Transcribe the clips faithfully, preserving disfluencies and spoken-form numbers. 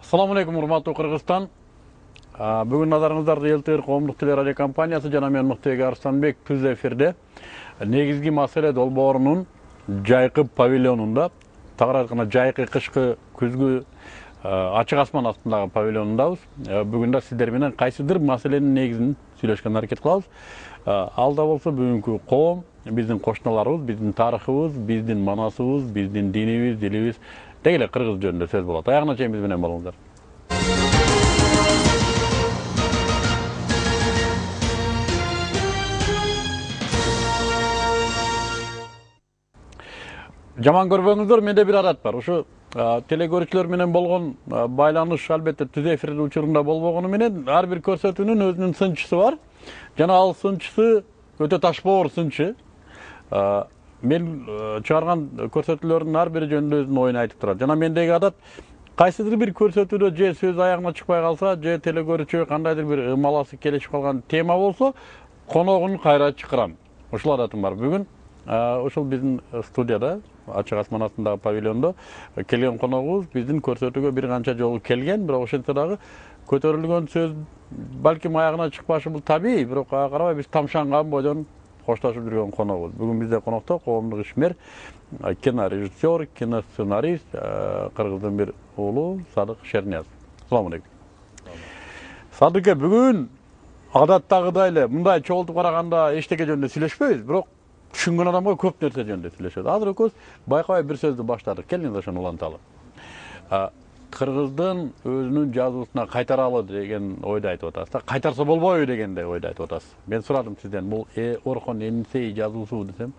Assalamu alaikum, урматтуу Кыргызстан. Бүгүн назарыңыздарды эл-тэ эр коомдук телерадио компаниясы жана мен Мыктыбек Арстанбек түз эфирде негизги маселе долбоорунун жайкы павильонунда, тагыраак айтканда жайкы кышкы күзгү ачык асман астындагы павильонундабыз. Бүгүн да сиздер менен кайсыдыр маселенин негизин сүйлөшкөнгө аракет кылабыз. Алда болсо бүгүнкү коом, биздин кошуналарыбыз, биздин тарыхыбыз, биздин манасыбыз, биздин динибиз, дилибиз деги эле кыргыз жөнүндө сөз болот. Аягына чейин биз менен болуңуздар. Жаман көрбөңүздөр, менде бир адат бар. Ушу телекөрүүчүлөр менен болгон байланыш албетте түз эфирдин учурунда болбогону менен ар бир көрсөтүүнүн өзүнүн сынчысы бар. Жана ал сынчысы өтө ташбоор сынчы. Мен чыгарган көрсөтүүлөрдүн ар бири жөнүндө өзүнүн оюн айтып турат. Жана мендеги адат кайсыдыр бир көрсөтүүдө же сөз аягына чыкпай калса, же телекөрүүчү кандайдыр бир ымаласы келишип калган тема болсо, коногун кайра чакырам. Ушул адатым бар. Бүгүн ушул биздин студияда, ачык асман астындагы павильондо келген коногубуз биздин көрсөтүүгө бир канча жолу келген, бирок ошентсе дагы көтөрүлгөн сөз балким аягына чыкпашы бул табий, бирок ага карабай биз тамшанган бойдон коштошуп жүргөн коногубуз. Бүгүн бизде конокто коомдук ишмер, кинорежиссер, киносценарист, кыргыздын бир уулу Садык Шерниязов. Саламу алейкум. Садык, бүгүн адаттагыдай эле мындай чогултуп караганда эчтеке жөнүндө сүйлөшпөйбүз, бирок түшүнгөн адамга көп нерсе жөнүндө сүйлөшөбүз. Азыр экөөбүз байкабай бир сөздү баштадык. Келиңиз ошону уланталы. Кыргыздын өзүнүн жазуусуна кайтаралы деген ойду айтып атасыз да. Кайтарса болбойбу дегенде ойду айтып атасыз. Мен сурадым сизден, бул Орхон Энисей жазуусу десем,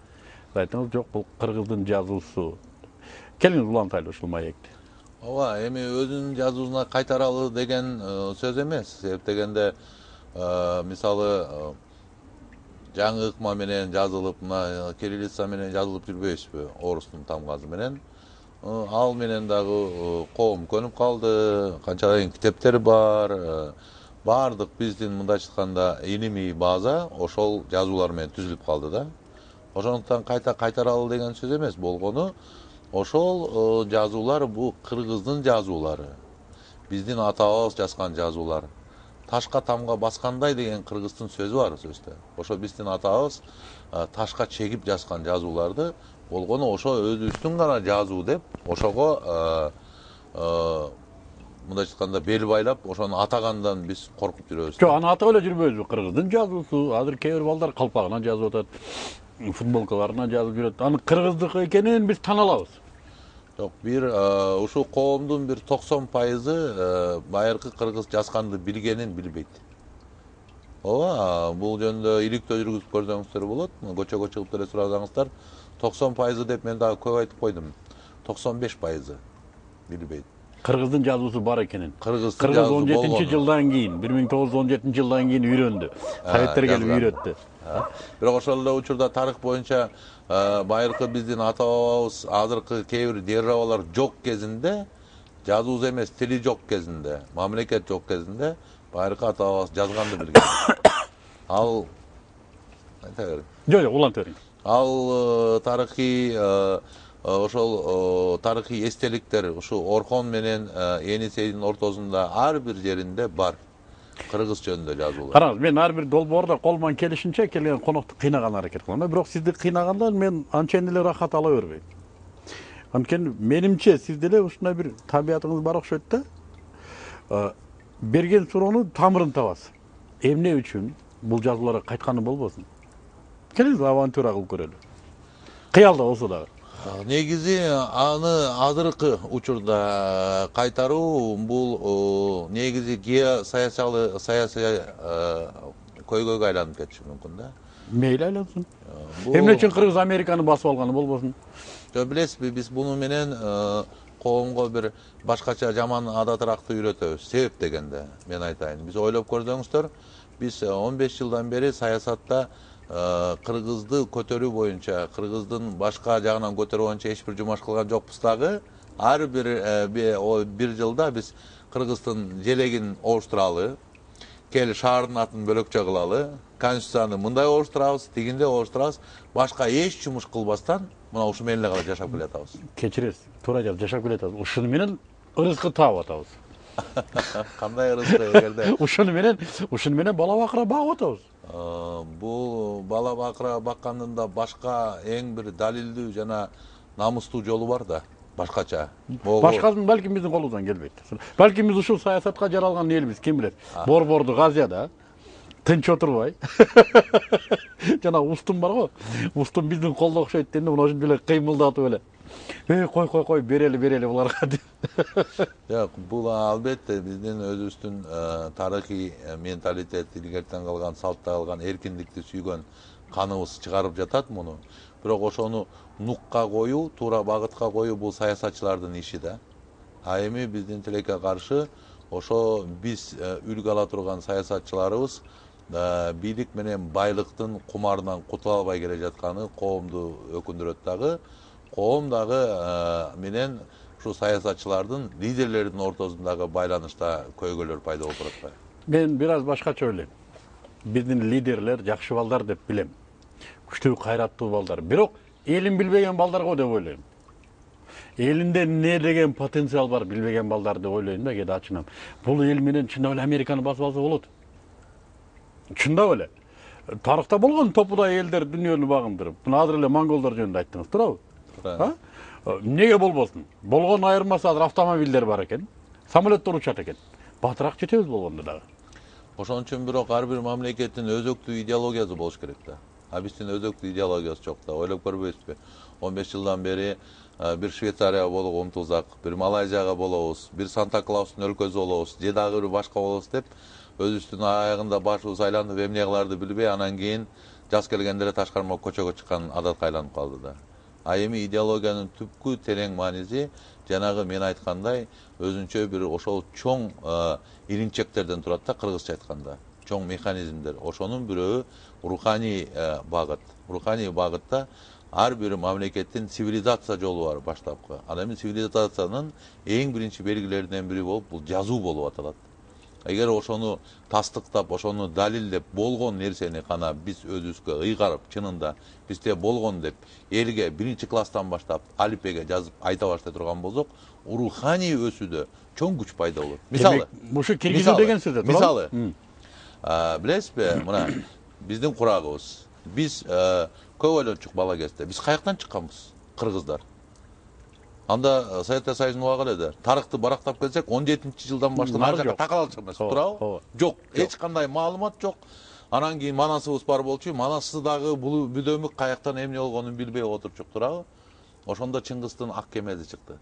айтыңыз жок, бул кыргыздын жазуусу. Келиңиз улантайлы ушул маекти. Ооба, эми өзүнүн жазуусуна кайтаралы деген сөз эмес. Себеп дегенде, мисалы жаңы ыкма менен жазылып, мына кириллица менен жазылып жүрбөйбүзбү, орустун тамгасы менен. Ал менен дагы коом көнүп калды, канчалайын китептер бар. Баардык биздин мындайча айтканда илимий база ошол жазуулар менен түзүлүп калды да. Ошондуктан кайта кайтаралы деген сөз эмес болгону, ошол жазуулар бул кыргыздын жазуулары. Биздин атабыз жазган жазуулар. Ташка тамга баскандай деген кыргыздын сөзү бар сөздө. Ошо биздин атабыз ташка чегип жазган жазууларды болгону ошо өзүбүздүн гана жазуу деп, ошого мындайча айтканда бел байлап, ошону атагандан биз коркуп жүрөбүз. Жок, аны атап эле жүрбөйбүзбү? Кыргыздын жазуусу, азыр кээ бир балдар калпагына жазып атат, футболкаларына жазып жүрөт. Аны кыргыздыкы экенин биз тана алабыз. Жок, бир ушул коомдун бир токсон пайызы байыркы кыргыз жазганды билгенин билбейт. Ооба, бул жөнүндө иликтөө жүргүзүп көрсөңүздөр болот. Көчөгө чыгып деле сурасаңыздар, токсон пайызы деп мен дагы көп айтып койдум. токсон беш пайызы билбейт. Кыргыздын жазуусу бар экенин. Кыргыз он жетинчи жылдан кийин, бир миң тогуз жүз он жетинчи жылдан кийин үйрөндү. Советтер келип үйрөттү. Бирок ошол эле учурда тарых боюнча байыркы биздин ата бабабыз, азыркы кээ бир державалар жок кезинде, жазуусу эмес, тили жок кезинде, мамлекет жок кезинде байыркы ата бабабыз жазганды билген. Ал айта бериң. Жок, жок, уланта бериң. Ал тарыхый ошол тарыхый эстеликтер ушу Орхон менен Энисейдин ортосунда ар бир жеринде бар. Кыргыз жөнүндө жазуулар. Караңыз, мен ар бир долбоордо колуман келишинче келген конокту кыйнаган аракет кылам. Бирок сизди кыйнаганда мен анчейин эле рахат ала бербейм. Анткени менимче сиз деле ушундай бир табиятыңыз бар окшойт да. Берген суроону тамырын табасыз. Эмне үчүн бул жазууларга кайтканы болбосун? Келиңиз авантюра кылып көрөлү. Кыялда болсо дагы. Негизи аны азыркы учурда кайтаруу бул негизи геосаясий саясий көйгөйгө айланып кетиши мүмкүн да. Мейли айлансын. Эмне үчүн Кыргыз Американы басып алганы болбосун? Жок, билесизби, биз буну менен коомго бир башкача жаман адатыракты үйрөтөбүз. Себеп дегенде, мен айтайын, биз ойлоп көрсөңүздөр, биз он беш жылдан бери саясатта кыргызды көтөрүү боюнча, кыргыздын башка жагынан көтөрүү боюнча эч бир жумуш кылган жокпуз дагы. Ар бир бир жылда биз Кыргыздын желегин ооштуралы, кел шаардын атын бөлөкчө кылалы, конституцияны мындай ооштурабыз, тигинде ооштурабыз, башка эч жумуш кылбастан мына ушу менен эле жашап келатабыз. Кечиресиз, туура жашап келатабыз. Ушуну менен ырыскы таап атабыз. Кандай ырыскы эгерде ушуну менен ушуну менен бала бакыра багып атабыз. бул бала бакыра баккандын да башка эң бир далилдүү жана намустуу жолу бар да, башкача. Башкасын балким биздин колубуздан келбейт. Балким биз ушул саясатка жаралган элбиз, ким билет. Борборду Азияда тынч отурбай. Жана устун бар го. Устун биздин колдо окшойт дегенде мына ушинтип эле кыймылдатып эле. Эй, кой кой кой берели берели буларга деп. Жок, бул албетте биздин өзүбүздүн тарыхый менталитет, илгертен калган, салтта калган эркиндикти сүйгөн каныбыз чыгарып жатат муну. Бирок ошону нукка коюу, туура багытка коюу бул саясатчылардын иши да. А эми биздин тилекке каршы ошо биз үлгү ала турган саясатчыларыбыз бийлик менен байлыктын кумарынан кутула албай келе жатканы коомду өкүндүрөт дагы. Коом дагы менен ушу саясатчылардын, лидерлердин ортосундагы байланышта көйгөйлөр пайда болуп атпайбы? Мен бир аз башкача ойлойм. Биздин лидерлер жакшы балдар деп билем. Күчтүү, кайраттуу балдар. Бирок элин билбеген балдар го деп ойлойм. Элинде эмне деген потенциал бар билбеген балдар деп ойлойм да, кээде ачынам. Бул эл менен чындап эле Американы басып алса болот. Чындап эле. Тарыхта болгон топудай элдер дүйнөнү багындырып. Мына азыр эле монголдор жөнүндө айттыңыз, туурабы? Эмнеге болбосун? Болгон айырмасы азыр автомобилдер бар экен, самолеттер учат экен. Батыраак жетебиз болгондо дагы. Ошон үчүн бирок ар бир мамлекеттин өзөктүү идеологиясы болуш керек да. А биздин өзөктүү идеологиясы жок да. Ойлоп көрбөйсүзбү? он беш жылдан бери бир Швейцария болууга умтулсак, бир Малайзияга болобуз, бир Санта Клаустун өлкөсү болобуз, же дагы бир башка болобуз деп өзүбүздүн аягында башыбыз айланып эмне кыларды билбей, анан кийин жаз келгенде эле ташкарма көчөгө чыккан адатка айланып калды да. А эми идеологиянын түпкү терең мааниси жанагы мен айткандай өзүнчө бир ошол чоң иринчектерден турат да, кыргызча айтканда. Чоң механизмдер. Ошонун бирөө руханий багыт. Руханий багытта ар бир мамлекеттин цивилизация жолу бар баштапкы. Ал эми цивилизациянын эң биринчи белгилеринен бири болуп бул жазуу болуп аталат. Эгер ошону тастыктап, ошону далилдеп болгон нерсени гана биз өзүбүзгө ыйгарып, чынында бизде болгон деп элге биринчи класстан баштап алифбеге жазып айта баштай турган болсок, руханий өсүүдө чоң күч пайда болот. Мисалы, ушу киргизүү деген сөз. Мисалы, билесизби, мына биздин курагыбыз. Биз көп ойлончук бала кезде. Биз каяктан чыкканбыз? Кыргыздар. Анда Советтер Союзунун убагы эле. Тарыхты барактап келсек, он жетинчи жылдан баштап ар жака такалчу эмес, туурабы? Жок, эч кандай маалымат жок. Анан кийин манасыбыз бар болчу, манасы дагы бул бүдөмүк каяктан эмне болгонун билбей отурчук, туурабы? Ошондо Чыңгыздын ак кемеси чыкты.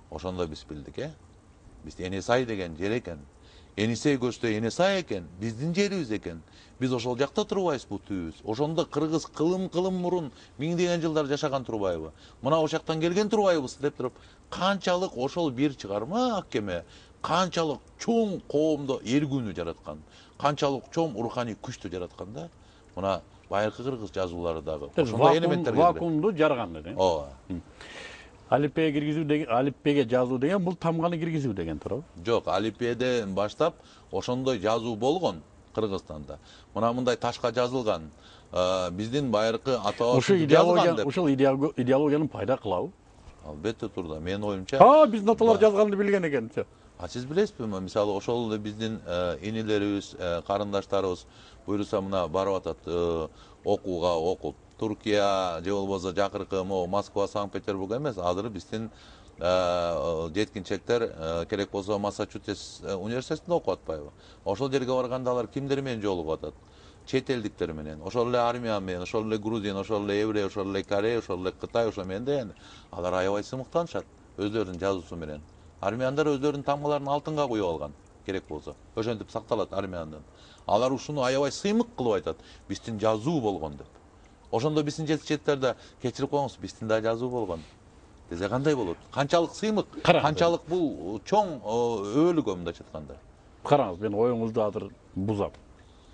Ошондо биз билдик, э? Биз Энесай деген жер экен. Энисей көчтө Энесай экен, биздин жерибиз экен. Биз ошол жакта турбайбыз, бул түбүбүз. Ошондо кыргыз кылым-кылым мурун миңдеген жылдар жашаган турбайбы? Мына ошол жактан келген турбайбыз деп туруп, канчалык ошол бир чыгарма ак кеме, канчалык чоң коомдо эргүүнү жараткан, канчалык чоң руханий күчтү жараткан да. Мына байыркы кыргыз жазуулары дагы ошондой элементтер вакуумду жарган эле. Ооба. Алифбеге киргизүү деген, алифбеге жазуу деген бул тамганы киргизүү деген туурабы? Жок, алифбеден баштап ошондой жазуу болгон Кыргызстанда. Мына мындай ташка жазылган, биздин байыркы ата-бабалар жазган деп. Ушул идеологиянын пайда кылабы? Албетте турда. Менин оюмча. А, биздин аталар жазганды билген экен. А сиз билесизби, мисалы ошол эле биздин инилерибиз, карындаштарыбыз буйруса мына барып атат окууга, окуп Туркия же болбосо жакыркы могу Москва, Санкт-Петербург эмес, азыр биздин жеткинчектер керек болсо Массачусетс университетинде окуп атпайбы? Ошол жерге барганда алар кимдер менен жолугуп атат? Чет элдиктер менен, ошол эле армян менен, ошол эле грузин, ошол эле еврей, ошол эле корей, ошол эле Кытай, ошол менен деген. Алар аябай сымыктанышат өздөрүнүн жазуусу менен. Армяндар өздөрүнүн тамгаларын алтынга куюп алган, керек болсо. Ошентип сакталат армяндын. Алар ушуну аябай сыймык кылып айтат. Биздин жазуу болгон деп. Ошондо биздин жетишчилерде кечирип коюңуз, биздин да жазуу болгон десе кандай болот? Канчалык сыймык, канчалык бул чоң өбөлгө мындайча айтканда. Караңыз, мен оюңузду азыр бузам.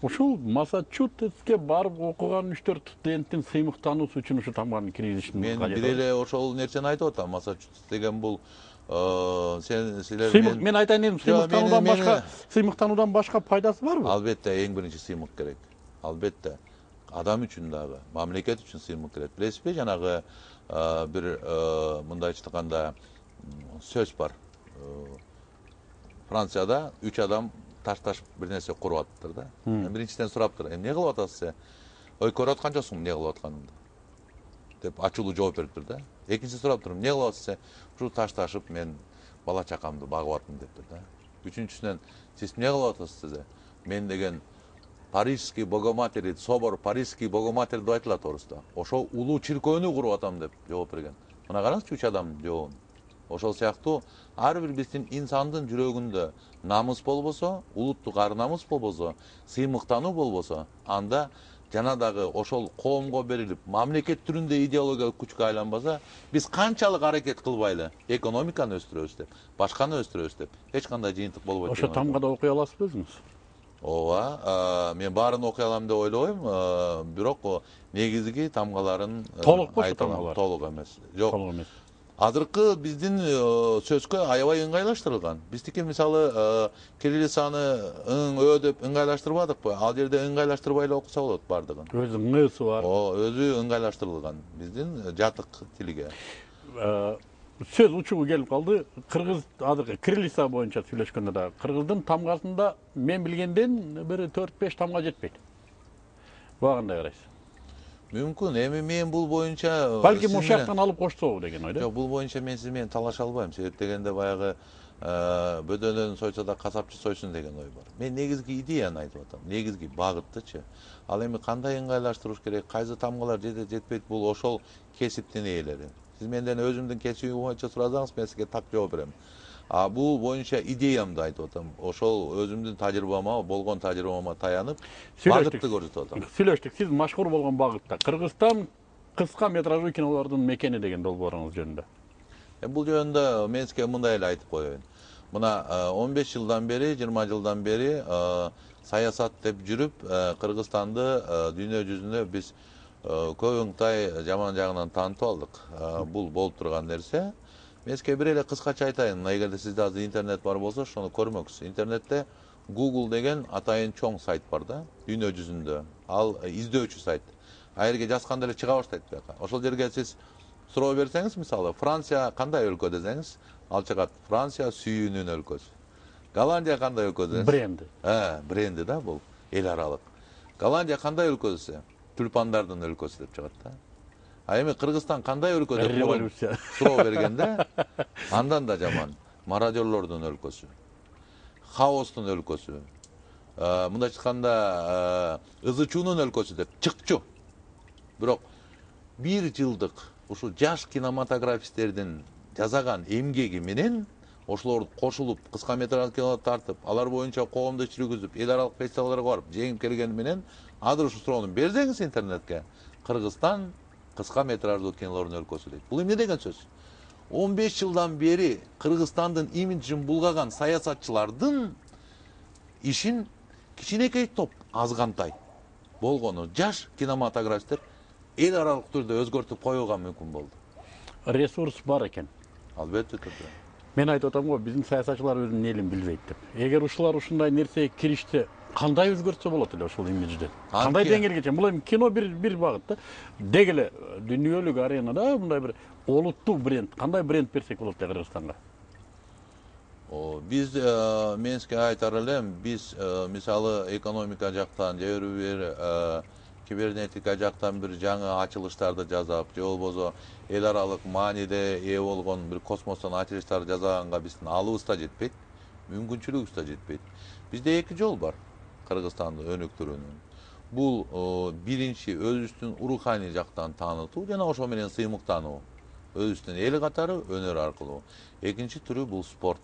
Ушул Массачусетске барып окуган үч төрт студенттин сыймыктануусу үчүн ушу тамганы киргизиштин мен бир эле ошол нерсени айтып атам. Массачусетс деген бул сен силер мен айтайын дедим, сыймыктануудан башка сыймыктануудан башка пайдасы барбы? Албетте, эң биринчи сыймык керек. Албетте. Адам үчүн дагы, мамлекет үчүн сыймык керек. Билесизби, жанагы бир мындайча айтканда сөз бар. Францияда үч адам ташташып бир нерсе куруп атыптыр да. Биринчиден сураптыр, эмне кылып атасыз? Ой, көрүп атканчысың эмне кылып атканыңды деп ачуулуу жооп бериптир да. Экинчиси сураптыр, эмне кылып атасыз? Ушу ташташып мен бала чакамды багып атам дептир да. Үчүнчүсүнөн сиз эмне кылып атасыз? Мен деген Парижский Богоматери, собор Парижский Богоматери деп айтылат орусда. Ошо улуу чиркөөнү куруп атам деп жооп берген. Мына караңызчы үч адамдын жообун. Ошол сыяктуу ар бир биздин инсандын жүрөгүндө намыс болбосо, улуттук ар намыс болбосо, сыймыктануу болбосо, анда жана дагы ошол коомго берилип, мамлекет түрүндө идеологиялык күчкө айланбаса, биз канчалык аракет кылбайлы экономиканы өстүрөбүз деп, башканы өстүрөбүз деп, эч кандай жыйынтык болбойт. Ошо тамгада окуй аласызбы өзүңүз? Ооба, мен баарын окуй алам деп ойлобойм, бирок негизги тамгаларын толук ошо тамгалар? Толук эмес. Жок. Толук эмес. Азыркы биздин сөзгө аябай ыңгайлаштырылган. Биздики мисалы кириллицаны ың ö деп ыңгайлаштырбадыкпы? Ал жерде ыңгайлаштырбай эле окуса болот бардыгын. Өзүнүн ысы бар. О, өзү ыңгайлаштырылган биздин жатык тилге. Сөз учугу келип калды. Кыргыз азыркы кириллица боюнча сүйлөшкөндө да кыргыздын тамгасында мен билгенден бир төрт беш тамга жетпейт. Буга кандай карайсыз? Мүмкүн, эми мен бул боюнча балким ошол жактан алып кошсобу деген ойдо. Жок, бул боюнча мен сиз менен талаша албайм. Себеп дегенде баягы бөдөнөн сойсо да касапчы сойсун деген ой бар. Мен негизги идеяны айтып атам. Негизги багыттычы. Ал эми кандай ыңгайлаштырыш керек, кайсы тамгалар жетет жетпейт, бул ошол кесиптин ээлери. Сиз менден өзүмдүн кесибим боюнча сурасаңыз, мен сизге так жооп берем. А бул боюнча идеямды айтып атам. Ошол өзүмдүн тажрыйбама, болгон тажрыйбама таянып, багытты көрсөтүп атам. Сүйлөштүк. Сиз машхур болгон багытта Кыргызстан кыска метраждуу кинолордун мекени деген долбооруңуз жөнүндө. Бул жөнүндө мен сизге мындай эле айтып коеюн. Мына он беш жылдан бери, жыйырма жылдан бери саясат деп жүрүп, Кыргызстанды дүйнө жүзүнө биз көбүңтай жаман жагынан таанытып алдык. Бул болуп турган нерсе. Мен сизге бир эле кыскача айтайын. Эгерде сизде азыр интернет бар болсо, ошону көрмөксүз. Интернетте Google деген атайын чоң сайт бар да, дүйнө жүзүндө. Ал издөөчү сайт. А жерге жазганда эле чыга баштайт бияка. Ошол жерге сиз суроо берсеңиз, мисалы, Франция кандай өлкө десеңиз, ал чыгат. Франция сүйүүнүн өлкөсү. Голландия кандай өлкө десеңиз? Бренди. Э, бренди да бул, эл аралык. Голландия кандай өлкө десе, тюльпандардын өлкөсү деп чыгат да. А эми Кыргызстан кандай өлкө деп Революция. суроо бергенде, андан да жаман. Мародерлордун өлкөсү. Хаостун өлкөсү. Мындайча айтканда, ызы-чуунун өлкөсү деп чыкчу. Бирок бир жылдык ушу жаш кинематографисттердин жасаган эмгеги менен ошолор кошулуп, кыска метраждуу кинолор тартып, алар боюнча коомдук жүргүзүп, эл аралык фестивалга барып, жеңип келгени менен азыр ушу суроону берсеңиз интернетке, Кыргызстан кыска метраждуу кинолордун өлкөсү дейт. Бул эмне деген сөз? он беш жылдан бери Кыргызстандын имиджин булгаган саясатчылардын ишин кичинекей топ азгантай болгону жаш кинематографисттер эл аралык түрдө өзгөртүп коюуга мүмкүн болду. Ресурс бар экен. Албетте түрдө. Мен айтып атам го, биздин саясатчылар өзүнүн элин билбейт деп. Эгер ушулар ушундай нерсеге киришсе, кандай өзгөртсө болот эле ошол имиджди? Кандай деңгээлге чейин? Бул эми кино бир бир багыт да. Деги эле дүйнөлүк аренада мындай бир олуттуу бренд, кандай бренд берсек болот деп Кыргызстанга? Биз мен сизге айтар элем, биз мисалы экономика жактан же бир кибернетика жактан бир жаңы ачылыштарды жасап, же болбосо эл аралык мааниде ээ болгон бир космостон ачылыштарды жасаганга биздин алыбыз да жетпейт, мүмкүнчүлүгүбүз да жетпейт. Бизде эки жол бар Кыргызстанды өнүктүрүүнүн. Бул биринчи өзүбүздүн руханий жактан таанытуу жана ошо менен сыймыктануу. Өзүбүздүн эл катары өнөр аркылуу. Экинчи түрү бул спорт.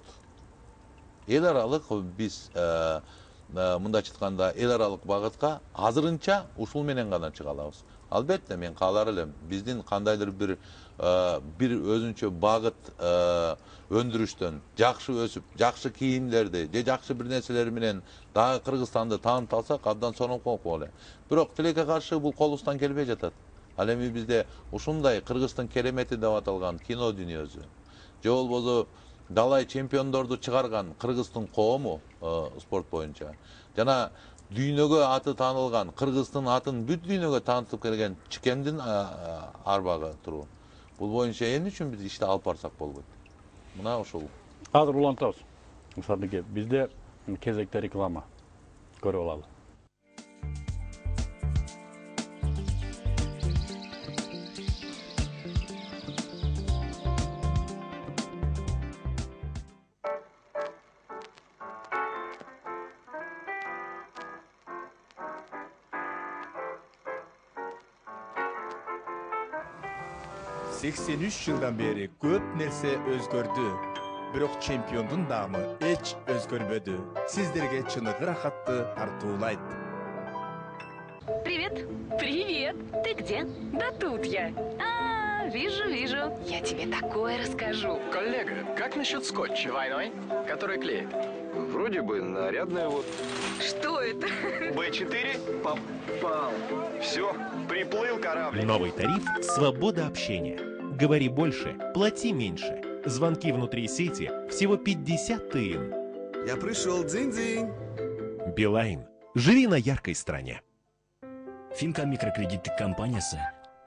Эл аралык биз мындайча айтканда эл аралык багытка азырынча ушул менен гана чыга алабыз. Албетте мен каалар элем биздин кандайдыр бир бир өзүнчө багыт өндүрүштөн жакшы өсүп, жакшы кийимдерди же жакшы бир нерселер менен дагы Кыргызстанды таанытып алсак, абдан сонолком болот эле. Бирок тилекке каршы бул колубуздан келбей жатат. Ал эми бизде ушундай Кыргыздын керемети деп аталган кино дүйнөсү, же болбосо далай чемпиондорду чыгарган Кыргыздын коому спорт боюнча жана дүйнөгө аты таанылган Кыргыздын атын бүт дүйнөгө таанытып келген Чикемдин арбагы туруу. Бул боюнча эмне үчүн биз ишти алып барсак болбойт? Мына ушул. Азыр улантабыз. Мисалыке бизде кезекте реклама көрүп алалы. сексен үч жылдан бери көп нерсе өзгөрдү. Бирок чемпиондун даамы эч өзгөрбөдү. Сиздерге чыныгы рахатты тартуулайт. Привет! Привет! Ты где? Да тут я. А, вижу, вижу. Я тебе такое расскажу. Коллега, как насчет скотча двойной, который клеит? Вроде бы нарядная вот. Что это? бэ четыре попал. Все, приплыл корабль. Новый тариф «Свобода общения». Говори больше, плати меньше. Звонки внутри сети всего пятьдесят тыын. Я пришел, дзынь-дзынь. Билайн. Живи на яркой стране. Финка микрокредиттик компаниясы.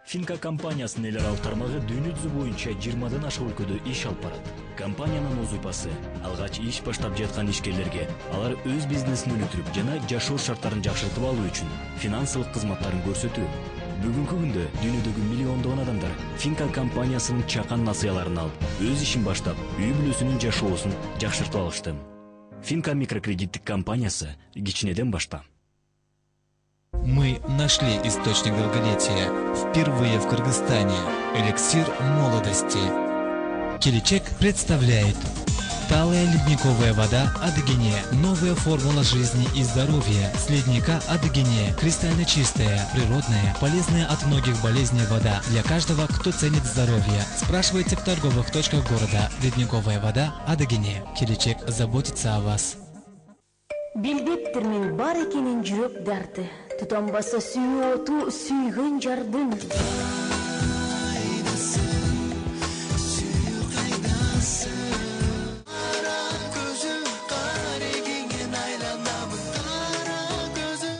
Финка компаниясынын эл аралык тармагы дүйнө жүзү боюнча жыйырмадан ашык өлкөдө иш алып барат. Компаниянын узупасы алгач иш баштап жаткан ишкерлерге алар өз бизнесин өнүктүрүп жана жашоо шарттарын жакшыртып алуу үчүн финансылык кызматтарын көрсөтүү. Бүгүнкү күндө дүйнөдөгү миллиондогон адамдар Финка компаниясынын чакан насыяларын алып, өз ишин баштап, үй бүлөсүнүн жашоосун жакшыртып алышты. Финка микрокредиттик компаниясы кичинеден башта. Мы нашли источник долголетия впервые в Кыргызстане. Эликсир молодости. Келечек представляет талая ледниковая вода Адыгене. Новая формула жизни и здоровья. С ледника Адыгене. Кристально чистая, природная, полезная от многих болезней вода. Для каждого, кто ценит здоровье. Спрашивайте в торговых точках города. Ледниковая вода Адыгене. Келечек заботится о вас. Билбептирмин бар экенин жүрөк дарты. Тутанбаса сүйүү оту сүйгөн жардын.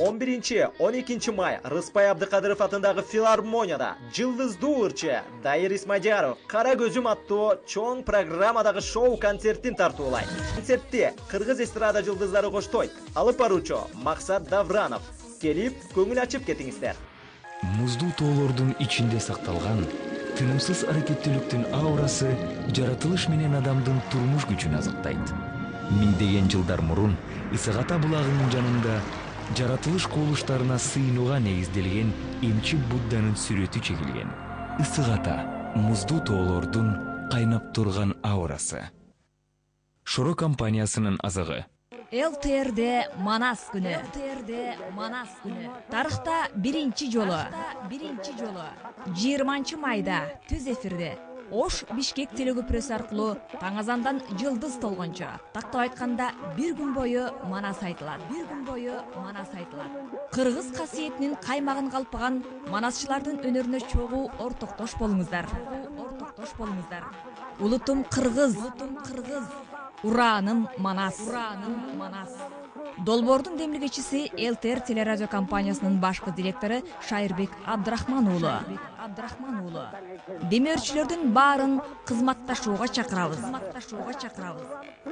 он биринчи — он экинчи май Рыспай Абдыкадыров атындагы филармонияда жылдыздуу ырчы Дайыр Исмадияров Кара көзүм аттуу чоң программадагы шоу концертин тартуулайт. Концертте кыргыз эстрада жылдыздары коштойт. Алып баруучу Максат Давранов келип көңүл ачып кетиңиздер. Муздуу тоолордун ичинде сакталган тынымсыз аракеттүүлүктүн аурасы жаратылыш менен адамдын турмуш күчүн азыктайт. Миңдеген жылдар мурун Ысыгата булагынын жанында жаратылыш кубулуштарына сыйынууга негизделген эмчи Будданын сүрөтү чегилген. Ысыгата муздуу тоолордун кайнап турган аурасы. Шоро компаниясынын азыгы. эл тэ эрде Манас күнү. эл тэ эрде Манас күнү. Тарыхта биринчи жолу, биринчи жолу жыйырманчы майда түз эфирде Ош Бишкек телекөпүрөсү аркылуу таң азандан жылдыз толгончо. Тактап айтканда бир күн бою Манас айтылат. Бир күн бою Манас айтылат. Кыргыз касиетинин каймагын калпаган манасчылардын өнөрүнө чогуу ортоктош болуңуздар. Ортоктош болуңуздар. Улутум кыргыз, улутум кыргыз. Ураным Манас, ураным Манас. Долбоордун демилгечиси эл тэ эр телерадио компаниясынын башкы директору Шайырбек Абдрахман уулу. Абдрахман уулу. Демөөрчүлөрдүн баарын кызматташууга чакырабыз. Кызматташууга чакырабыз.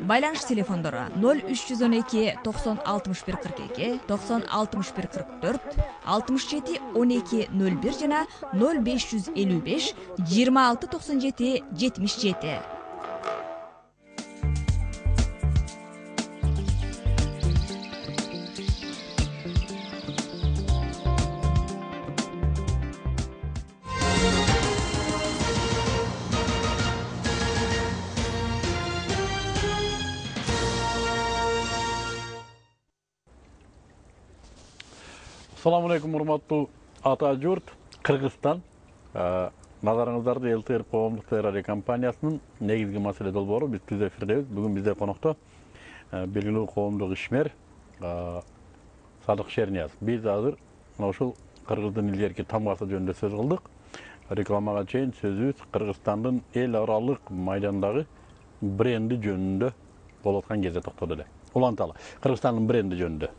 Байланыш телефондору ноль үч жүз он эки токсон алтымыш бир кырк эки, токсон алтымыш бир кырк төрт, алтымыш жети он эки ноль бир жана ноль беш жүз элүү беш жыйырма алты токсон жети жетимиш жети. Assalamu alaikum урматтуу ата журт, Кыргызстан. Назарыңыздарды эл тэ эр коомдук телерадио компаниясынын негизги маселе долбоору биз түз эфирдебиз. Бүгүн бизде конокто белгилүү коомдук ишмер Садык Шернияз. Биз азыр мына ушул Кыргыздын илгерки тамгасы жөнүндө сөз кылдык. Рекламага чейин сөзүбүз Кыргызстандын эл аралык майдандагы бренди жөнүндө болуп аткан кезде токтоду эле. Уланталы. Кыргызстандын бренди жөнүндө.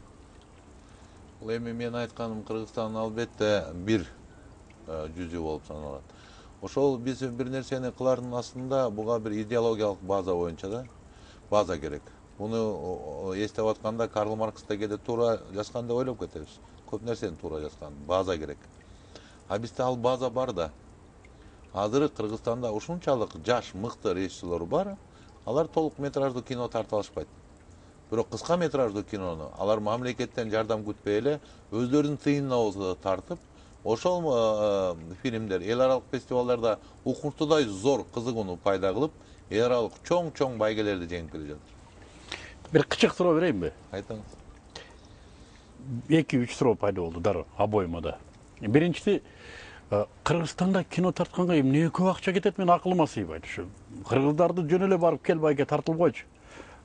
Эми мен айтканым Кыргызстан албетте бир жүзү болуп саналат. Ошол биз бир нерсени кылардын астында буга бир идеологиялык база боюнча да база керек. Муну эстеп атканда Карл Маркс да кээде туура жазган деп ойлоп кетебиз. Көп нерсени туура жазган, база керек. А бизде ал база бар да. Азыр Кыргызстанда ушунчалык жаш, мыкты режиссерлор бар, алар толук метраждуу кино тартып алышпайт. Бирок кыска метраждуу кинону алар мамлекеттен жардам күтпөй эле өздөрүнүн тыйынына тартып, ошол фильмдер эл аралык фестивалдарда укуктуудай зор кызыгууну пайда кылып, эл аралык чоң-чоң байгелерди жеңип келе жатыр. Бир кычык суроо берейинби? Айтыңыз. эки үч суроо пайда болду дароо обоюма да. Биринчиси, Кыргызстанда кино тартканга эмне көп акча кетет, мен акылыма сыйбайт ушу. Кыргыздарды жөн эле барып кел байке тартылып койчу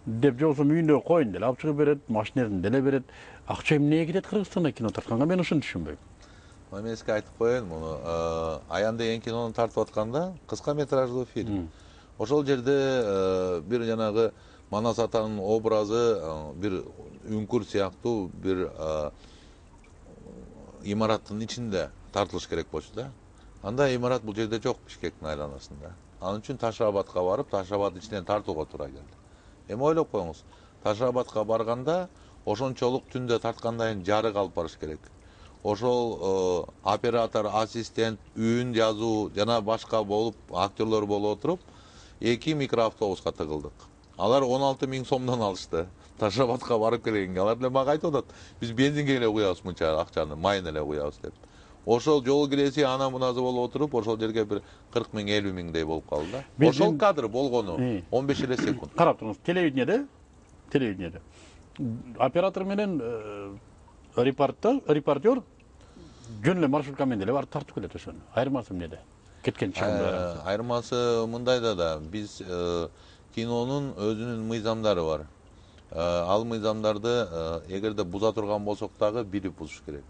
деп, же болбосо үйүндө коюн деле алып чыгып берет, машинерин деле берет. Акча эмнеге кетет Кыргызстанда кино тартканга, мен ушуну түшүнбөйм. Мен сизге айтып коеюн, муну Аян деген кинону тартып атканда кыска метраждуу фильм. Ошол жерде бир жанагы Манас атанын образы бир үңкүр сыяктуу бир имараттын ичинде тартылыш керек болчу да. Анда имарат бул жерде жок, Бишкектин айланасында. Анын үчүн Ташабадка барып, Ташабад ичинен тартууга туура келди. Эми ойлоп коюңуз, Ташабадка барганда ошончолук түндө тарткандан кийин жарык алып барыш керек. Ошол оператор, ассистент, үн жазуу жана башка болуп, актерлор болуп отуруп, эки микроавтобуска тыгылдык. Алар он алты миң сомдон алышты. Ташабадка барып келгенге алар эле мага айтып атат, биз бензинге эле куябыз мынча акчаны, майын эле куябыз деп. Ошол жол киреси ана муназы болуп отуруп, ошол жерге бир кырк миң, элүү миңдей болуп калды да. Ошол кадр болгону он беш эле секунд. Карап туруңуз, телевидениеде, телевидениеде оператор менен репортер, репортер жөн эле маршрутка менен деле барып тартып келет ошону. Айырмасы эмнеде? Кеткен чыгымдар. Айырмасы мындайда да, биз кинонун өзүнүн мыйзамдары бар. Ал мыйзамдарды эгерде буза турган болсок дагы билип бузуш керек.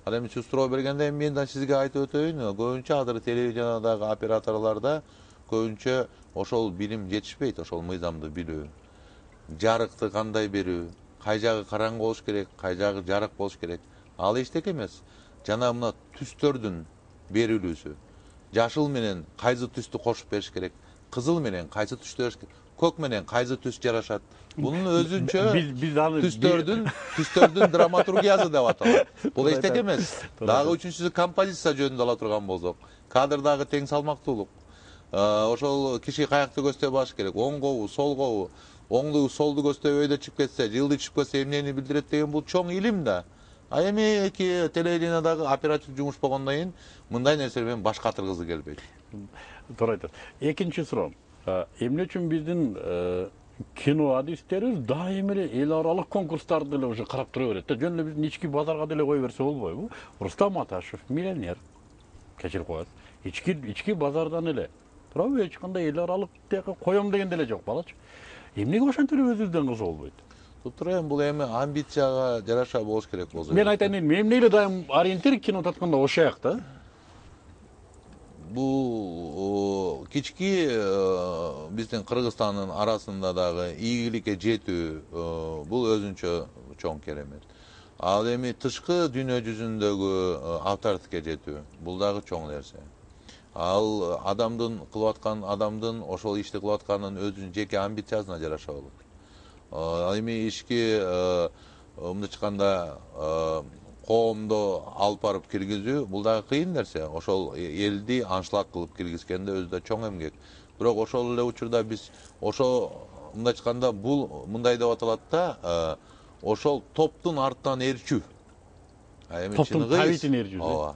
Ал эми сиз суроо бергенде мен да сизге айтып өтөйүн, көбүнчө азыр телевидениядагы операторлордо көбүнчө ошол билим жетишпейт, ошол мыйзамды билүү. Жарыкты кандай берүү, кай жагы караңгы болуш керек, кай жагы жарык болуш керек. Ал эчтеке эмес. Жана мына түстөрдүн берилүүсү. Жашыл менен кайсы түстү кошуп бериш керек, кызыл менен кайсы түстү бериш керек, көк менен кайсы түс жарашат. Бунун өзүнчө түстөрдүн түстөрдүн драматургиясы деп аталат. Бул эчтеке эмес. Дагы үчүнчүсү композиция жөнүндө ала турган болсок, кадрдагы тең салмактуулук. Ошол киши каякты көздөй баш керек, оңгобу, солгобу, оңду солду көздөй өйдө чыгып кетсе, жылды чыгып кетсе эмнени билдирет деген бул чоң илим да. А эми эки телевидениядагы оператив жумуш болгондон кийин мындай нерселер менен баш катыргысы келбейт. Туура айтасыз. Экинчи суроо. Эмне үчүн биздин кино адистерибиз дайыма эле эл аралык конкурстарды деле уже карап тура берет да. Жөн эле биздин ички базарга деле кое берсе болбойбу? Рустам Аташев миллионер. Кечирип коесуз. Ички ички базардан эле. Туурабы? Эч кандай эл аралык тияка коем деген деле жок балачы. Эмнеге ошентип эле өзүбүздөн кызы болбойт? Тура эми бул эми амбицияга жараша болуш керек болсо. Мен айтайын, эмне эле дайым ориентир кино тартканда ошояк да. Бул кички биздин Кыргызстандын арасында дагы ийгиликке жетүү бул өзүнчө чоң керемет. Ал эми тышкы дүйнө жүзүндөгү авторитетке жетүү бул дагы чоң нерсе. Ал адамдын кылып аткан адамдын ошол ишти кылып атканын өзүнүн жеке амбициясына жараша болот. Ал эми ишки мындай айтканда коомдо алып барып киргизүү бул дагы кыйын нерсе. Ошол элди аншлаг кылып киргизгенде өзү да чоң эмгек. Бирок ошол эле учурда биз ошо мындай айтканда бул мындай деп аталат да, ошол топтун артынан ээрчүү. Эми топтун табитин ээрчүү. Ооба.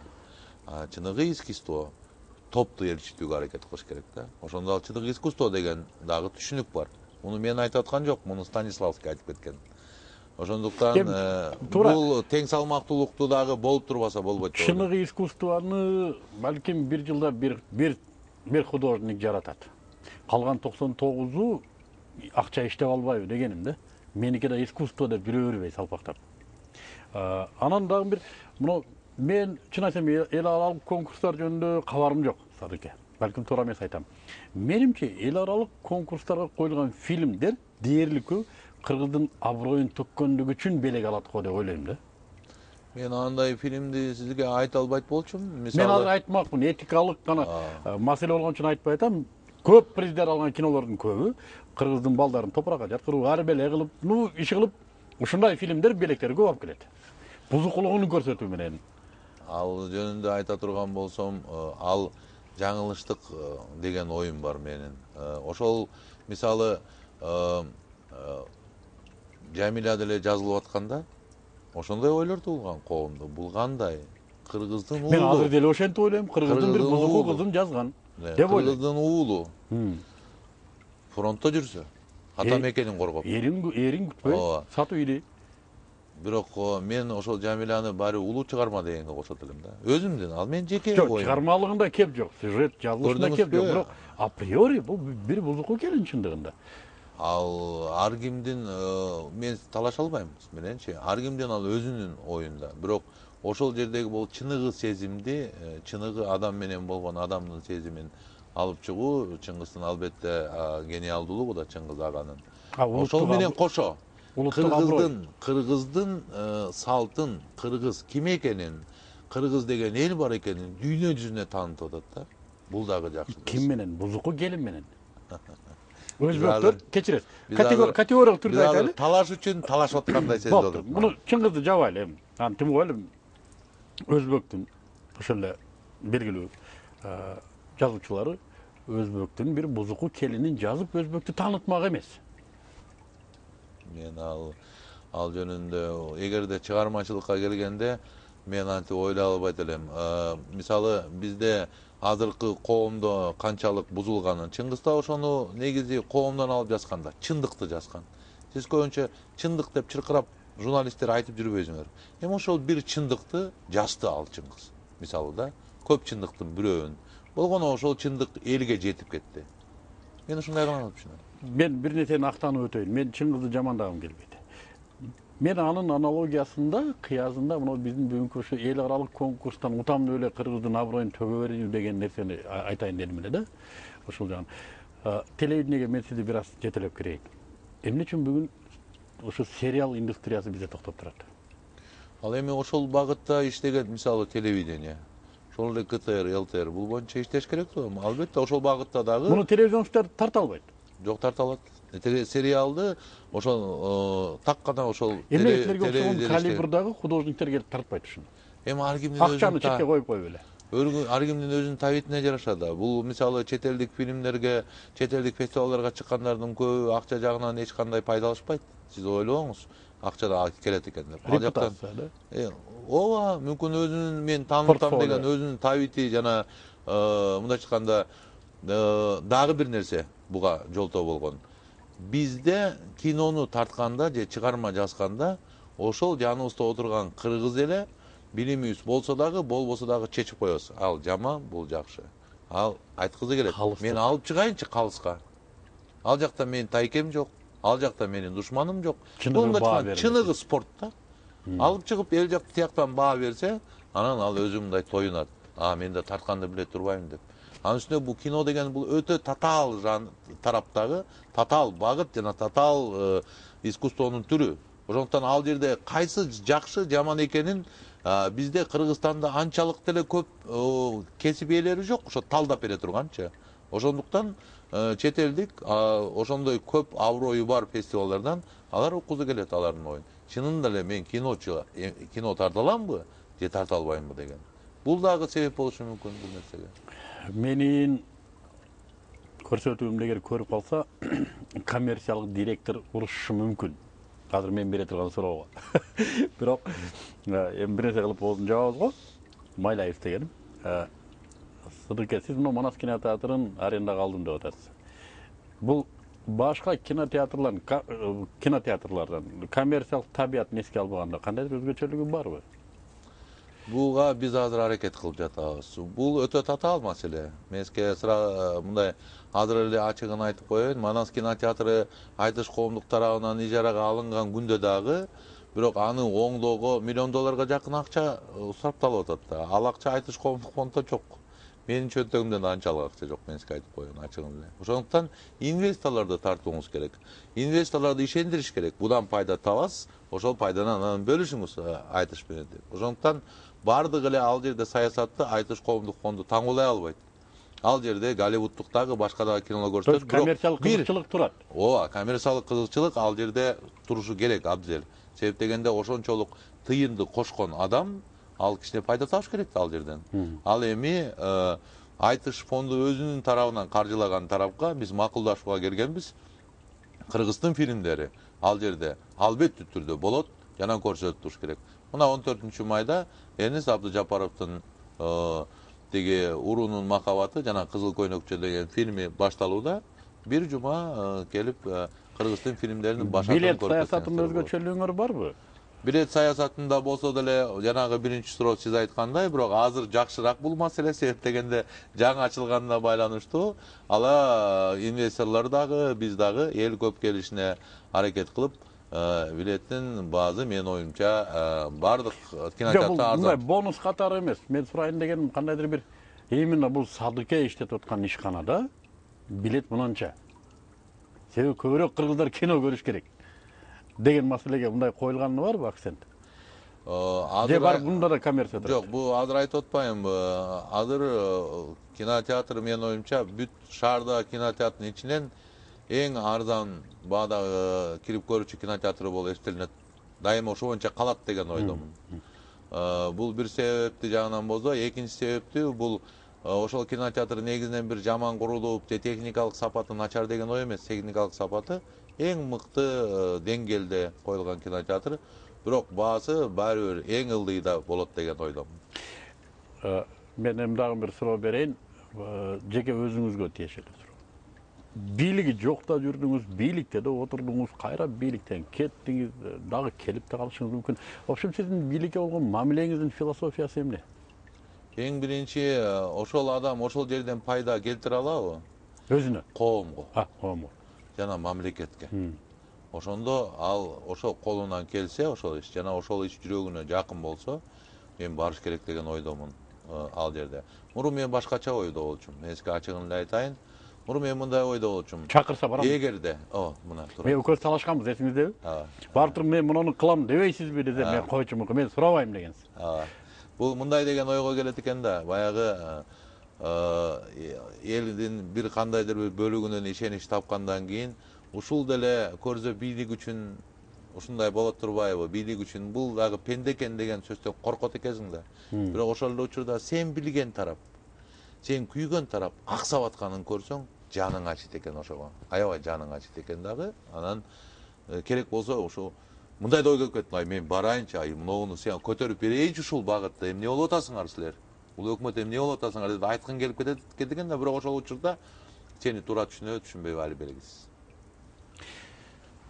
Чыныгы искусство топту ээрчитүүгө аракет кылыш керек да. Ошондо ал чыныгы искусство деген дагы түшүнүк бар. Муну мен айтып аткан жок, муну Станиславский айтып кеткен. Ошондуктан бул тең салмактуулукту дагы болуп турбаса болбойт. Чыныгы искусствону балким бир жылда бир бир бир художник жаратат. Калган токсон тогузу акча иштеп албайбы дегеним да. Меники да искусство деп жүрө бербей салпактап. Анан дагы бир муну мен чын айтсам эл аралык конкурстар жөнүндө кабарым жок, Садыке. Балким туура эмес айтам. Менимче эл аралык конкурстарга коюлган фильмдер дээрлик көп кыргыздын аброюн төккөндүгү үчүн белек алат го деп ойлойм да. Мен андай фильмди сизге айта албайт болчумун. Мен азыр айтмакмын, этикалык гана маселе болгон үчүн айтпай атам. көп приздер алган кинолордун көбү кыргыздын балдарын топуракка жаткырып арбеле кылып ну иш кылып ушундай фильмдер белектери көп алып келет бузукулугун көрсөтүү менен. Ал жөнүндө айта турган болсом, ал жаңылыштык деген оюм бар менин. Ошол мисалы Жамиля деле жазылып атканда ошондой ойлор туулган коомдо. Бул кандай? Кыргыздын уулу. Мен азыр деле ошентип ойлойм. Кыргыздын бир бузуку кызын жазган деп ойлойм. Кыргыздын уулу. Фронтто жүрсө, ата мекенин коргоп. Эрин эрин күтпөй, сатып иди. Бирок мен ошол Жамиляны баары улуу чыгарма дегенге кошот элем да. Өзүмдүн, ал менин жеке оюм. Жок, чыгармалыгында кеп жок, сюжет жазылышында кеп жок, бирок априори бул бир бузуку келин чындыгында. Ал ар кимдин мен талаша албайм мененчи. Ар кимдин ал өзүнүн оюнда. Бирок ошол жердеги бул чыныгы сезимди, чыныгы адам менен болгон адамдын сезимин алып чыгуу Чыңгыздын албетте гениалдуулугу да Чыңгыз аганын. Ошол менен кошо Кыргыздын, Кыргыздын салтын, кыргыз ким экенин, кыргыз деген эл бар экенин дүйнө жүзүнө таанытып атат да. Бул дагы жакшы. Ким менен? Бузуку келин менен. Өзбектөр кечирет. Категориялык түрдө айтайлы. Талаш үчүн талашып аткандай сезип атат. Муну Чыңгызды жабайлы эми. Аны тим ойлойм. Өзбектин ошол эле белгилүү жазуучулары өзбектин бир бузуку келинин жазып өзбектү таанытмак эмес. Мен ал ал жөнүндө эгерде чыгармачылыкка келгенде мен антип ойлой албайт элем. Мисалы бизде азыркы коомдо канчалык бузулганын, Чыңгыз да ошону негизи коомдон алып жазган да, чындыкты жазган. Сиз көбүнчө чындык деп чыркырап журналисттер айтып жүрбөйсүңөр. Эми ошол бир чындыкты жазды ал Чыңгыз. Мисалы да, көп чындыктын бирөөнүн. Болгону ошол чындык элге жетип кетти. Мен ушундай гана түшүнөм. Мен бир нерсени актанып өтөйүн. Мен Чыңгызды жамандагым келбейт. Мен анын аналогиясында, кыязында мына биздин бүгүнкү ушу эл аралык конкурстан утамдуу эле кыргыздын аброюн төгө берүү деген нерсени айтайын дедим эле да. Ошол жагын. Телевидениеге мен сизди бир аз жетелеп кирейин. Эмне үчүн бүгүн ошо сериал индустриясы бизде токтоп турат? Ал эми ошол багытта иштеген мисалы телевидение, ошол эле ка тэ эр, эл тэ эр бул боюнча иштеш керек да. Албетте ошол багытта дагы. Муну телевизиончулар тарта албайт. Жок, тарта алат. Сериалды ошол так гана ошол эмнелерге окшогон калибрдагы художниктер келип тартпайт ушуну. Эми ар кимдин өзүнүн акчаны четке коюп коюп эле. Ар кимдин өзүнүн табитине жараша да. Бул мисалы чет элдик фильмдерге, чет элдик фестивалдарга чыккандардын көбү акча жагынан эч кандай пайда алышпайт. Сиз ойлобоңуз, акча да келет экен деп. Ал жактан ооба, мүмкүн өзүнүн мен таанытам деген өзүнүн табити жана мындай айтканда дагы бир нерсе буга жолтоо болгон. Бизде кинону тартканда же чыгарма жазганда ошол жаныбызда отурган кыргыз эле билимибиз болсо дагы, болбосо дагы чечип коебуз. Ал жаман, бул жакшы. Ал айткызы келет. Мен алып чыгайынчы калыска. Ал жакта менин тайкем жок, ал жакта менин душманым жок. Чыныгы спорт да. Алып чыгып эл жак тияктан баа берсе, анан ал өзү мындай тоюнат. А, мен да тартканды биле турбайм деп. Анын үстүнө бул кино деген бул өтө татаал тараптагы, татаал багыт жана татаал искусствонун түрү. Ошондуктан ал жерде кайсы жакшы, жаман экенин бизде Кыргызстанда анчалык деле көп кесип ээлери жок, ошо талдап бере турганчы. Ошондуктан чет элдик ошондой көп аброю бар фестивалдардан алар уккузу келет алардын оюн. Чынында эле мен киночу, кино тарта аламбы же тарта албаймбы деген. Бул дагы себеп болушу мүмкүн бул нерсеге. Менин көрсөтүүмдү эгер көрүп калса, коммерциялык директор урушушу мүмкүн. Азыр мен бере турган суроого. Бирок эми бир нерсе кылып оозун жабабыз го. Майлаев дегеним. Сыдыке, сиз мына Манас кинотеатрын арендага алдым деп атасыз. Бул башка кинотеатрлардын кинотеатрлардан коммерциялык табиятын эске албаганда кандайдыр өзгөчөлүгү барбы? Буга биз азыр аракет кылып жатабыз. Бул өтө татаал маселе. Мен сизге мындай азыр эле ачыгын айтып коеюн. Манас кинотеатры Айтыш коомдук тарабынан ижарага алынган күндө дагы, бирок аны оңдоого миллион долларга жакын акча сарпталып атат да. Ал акча Айтыш коомдук фонддо жок. Менин чөнтөгүмдөн да анчалык акча жок, мен сизге айтып коеюн ачыгын эле. Ошондуктан инвесторлорду тартууңуз керек. Инвесторлорду ишендириш керек. Будан пайда табасыз, ошол пайданан анан бөлүшүңүз Айтыш менен деп. Ошондуктан бардык эле ал жерде саясатты Айтыш коомдук фонду таңуулай албайт. Ал жерде Голливуддук дагы башка дагы кинолор көрсөтөт. Коммерциялык кызыкчылык турат. Ооба, коммерциялык кызыкчылык ал жерде турушу керек абзел. Себеп дегенде ошончолук тыйынды кошкон адам ал кичине пайда табыш керек ал жерден. Ал эми айтыш фонду өзүнүн тарабынан каржылаган тарапка биз макулдашууга келгенбиз. Кыргыздын фильмдери ал жерде албеттүү түрдө болот, жана көрсөтүлүш керек. Мына он төртүнчү майда Эрнест Абдыжапаровдун тиги Уруунун махабаты жана Кызыл көйнөкчө деген фильми башталууда. Бир жума келип кыргыздын фильмдеринин башатын көрүп. Билет саясатында өзгөчөлүгүңөр барбы? Билет саясатында болсо деле жанагы биринчи суроо сиз айткандай, бирок азыр жакшыраак бул маселе, себеп дегенде жаңы ачылганына байланыштуу. Ала инвесторлор дагы, биз дагы эл көп келишине аракет кылып, билеттин баазы менин оюмча бардык кинотеатрда арзан. Бонус катары эмес. Мен сурайын дегеним кандайдыр бир именно бул Садыке иштетип аткан ишканада билет мынанча. Себеби көбүрөөк кыргыздар кино көрүш керек деген маселеге мындай коюлганы барбы акцент? Же бар бунда да коммерция турат? Жок, бул азыр айтып атпаймынбы. Азыр кинотеатр менин оюмча бүт шаарда кинотеатрдын ичинен эң арзан баадагы кирип көрүүчү кинотеатр болуп эсептелинет. Дайыма ошо боюнча калат деген ойдомун. Бул бир себепти жагынан болсо, экинчи себептүү бул ошол кинотеатр негизинен бир жаман курулуп, же техникалык сапаты начар деген ой эмес. Техникалык сапаты эң мыкты деңгээлде коюлган кинотеатр, бирок баасы баары бир эң ылдыйда болот деген ойдомун. Мен эми дагы бир суроо берейин, жеке өзүңүзгө тиешелүү суроо. Бийлиги жокта жүрдүңүз, бийликте да отурдуңуз, кайра бийликтен кеттиңиз, дагы келип да калышыңыз мүмкүн. В общем, сиздин бийликке болгон мамилеңиздин философиясы эмне? Эң биринчи ошол адам ошол жерден пайда келтире алабы? Өзүнө? Коомго. А, коомго. Жана мамлекетке. Ошондо ал ошол колунан келсе, ошол иш жана ошол иш жүрөгүнө жакын болсо, мен барыш керек деген ойдомун ал жерде. Мурун мен башкача ойдо болчумун. Мен сизге ачыгын эле айтайын. Мурун мен мындай ойдо болчумун. Чакырса барам. Эгерде, о, мына тура. Мен көз талашканбыз, эсиңиздеби? Барып туруп мен муну кылам дебейсизби десе, мен койчумун, мен сурабайм дегенсиз. Бул мындай деген ойго келет экен да, баягы элдин бир кандайдыр бир бөлүгүнөн ишенич тапкандан кийин ушул деле көрзө бийлик үчүн ушундай болот турбайбы? Бийлик үчүн бул дагы пенде экен деген сөздөн коркот экенсиң да. Бирок ошол эле учурда сен билген тарап, сен күйгөн тарап аксап атканын көрсөң, жаның ачыйт экен ошого. Аябай жаның ачыйт экен дагы. Анан керек болсо ошо мындай да ой келип кетти. Мен барайынчы, ай муну сен көтөрүп берейинчи ушул багытта. Эмне болуп атасыңар силер? Бул өкмөт эмне болуп атасыңар деп айткың келип кетет экен да, бирок ошол учурда сени туура түшүнөбү, түшүнбөйбү али белгисиз.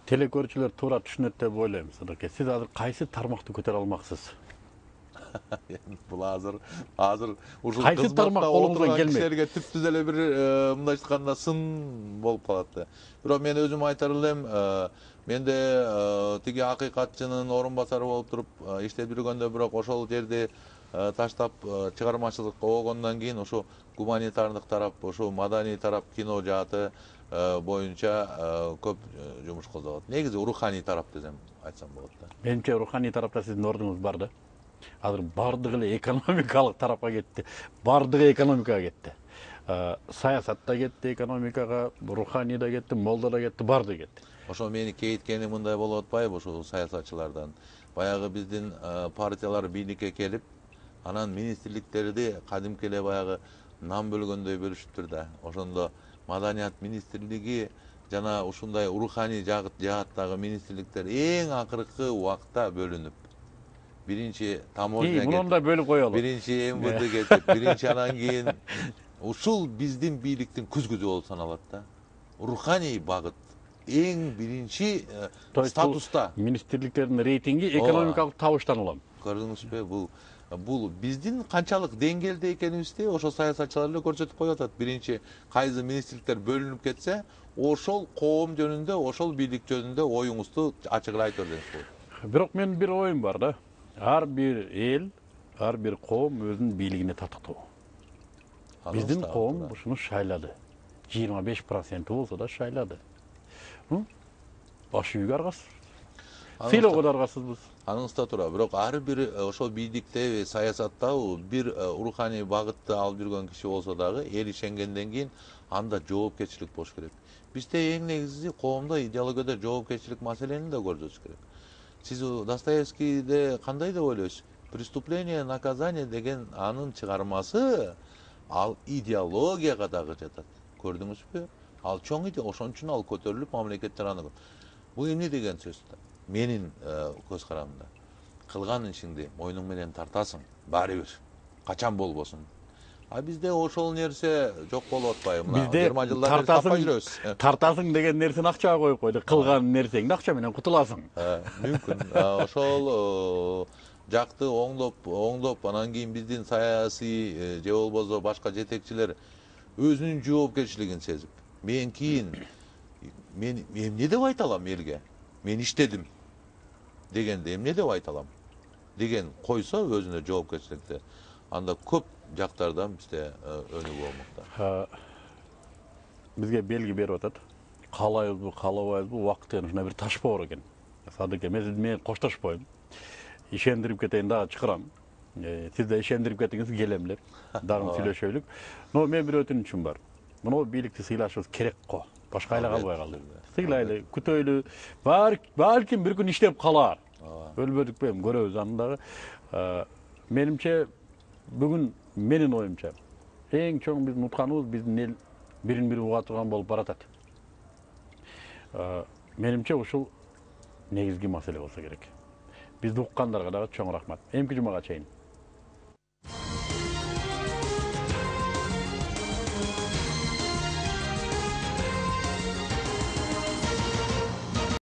Телекөрүүчүлөр туура түшүнөт деп ойлойм, Садыке. Сиз азыр кайсы тармакты көтөрө алмаксыз? Бул азыр азыр ушул кайсы тармак колуңуздан келмейт? Кишилерге түптүз эле бир мындай айтканда сын болуп калат да. Бирок мен өзүм айтар элем, менде тиги акыйкатчынын орун басары болуп туруп иштеп жүргөндө, бирок ошол жерди таштап чыгармачылыкка болгондон кийин ошо гуманитардык тарап, ошо маданий тарап, кино жааты боюнча көп жумуш кылдырат. Негизи руханий тарап десем айтсам болот да. Менимче руханий тарапта сиздин ордуңуз бар да. Азыр бардыгы эле экономикалык тарапка кетти. Бардыгы экономикага кетти. Саясатта кетти, экономикага, руханийда кетти, молда да кетти, бардыгы кетти. Ошо мени кейиткени мындай болуп атпайбы ошол саясатчылардан? Баягы биздин партиялар бийликке келип, анан министрликтерди кадимки эле баягы нан бөлгөндөй бөлүшүптүр да. Ошондо маданият министрлиги жана ушундай руханий жааттагы министрликтер эң акыркы убакта бөлүнүп, биринчи таможня кетип, мунун да бөлүп коелу. Биринчи эм вэ дэ кетип, биринчи анан кийин ушул биздин бийликтин күзгүзү болуп саналат да. Руханий багыт эң биринчи статуста. Министрликтердин рейтинги экономикалык табыштан улам. Көрдүңүзбү, бул бул биздин канчалык деңгээлде экенибизди ошол саясатчылар эле көрсөтүп коюп атат. Биринчи кайсы министрликтер бөлүнүп кетсе, ошол коом жөнүндө, ошол бийлик жөнүндө оюңузду ачык эле айтып берсеңиз болот. Бирок менин бир оюм бар да. Ар бир эл, ар бир коом өзүнүн бийлигине татыктуу. Биздин коом ушуну шайлады. жыйырма беш проценти болсо да шайлады. Баш үйгө аргасыз. Сыйлоого да аргасызбыз. аныңызда тура. Бирок ар бир ошол бийликте, саясатта бир руханий багытты алып жүргөн киши болсо дагы эл ишенгенден кийин анда жоопкерчилик болуш керек. Бизде эң негизи коомдо идеологияда жоопкерчилик маселени да көрсөтүш керек. Сиз Достоевскийде кандай деп ойлойсуз? Преступление, наказание деген анын чыгармасы ал идеологияга дагы жатат. Көрдүңүзбү? Ал чоң иде, ошон үчүн ал көтөрүлүп мамлекеттер аны. Бул эмне деген сөз? Менин көз карамымда. Кылган ишиңди мойнуң менен тартасың, баары бир. Качан болбосун. А бизде ошол нерсе жок болуп атпайбы? Бизде тартасың, тартасың деген нерсени акчага коюп койду. Кылган нерсеңди акча менен кутуласың. Мүмкүн. Ошол жакты оңдоп, оңдоп, анан кийин биздин саясий же болбосо башка жетекчилер өзүнүн жоопкерчилигин сезип, мен кийин мен эмне деп айта алам элге? Мен иштедим дегенде эмне деп айта алам? Деген койсо өзүнө жоопкерчиликти, анда көп жактардан бизде өнүгүү болмокто. Бизге белги берип атат. Каалайбызбы, каалабайбызбы, убакыт деген ушундай бир таш боор экен. Садыке, мен коштошпойм. Ишендирип кетейин дагы чакырам. Сиз да ишендирип кетиңиз, келем деп. Дагы сүйлөшөлүк. Но мен бир өтүнүчүм бар. Мына бийликти сыйлашыбыз керек го. Башка айла калбай калды. Сыйлайлы, күтөйлү. Балким бир күн иштеп калар. Өлбөдүк бем, көрөбүз аны дагы. Менимче бүгүн менин оюмча эң чоң биздин утканыбыз биздин эл бирин бири уга турган болуп баратат. Менимче ушул негизги маселе болсо керек. Бизди уккандарга дагы чоң рахмат. Эмки жумага чейин.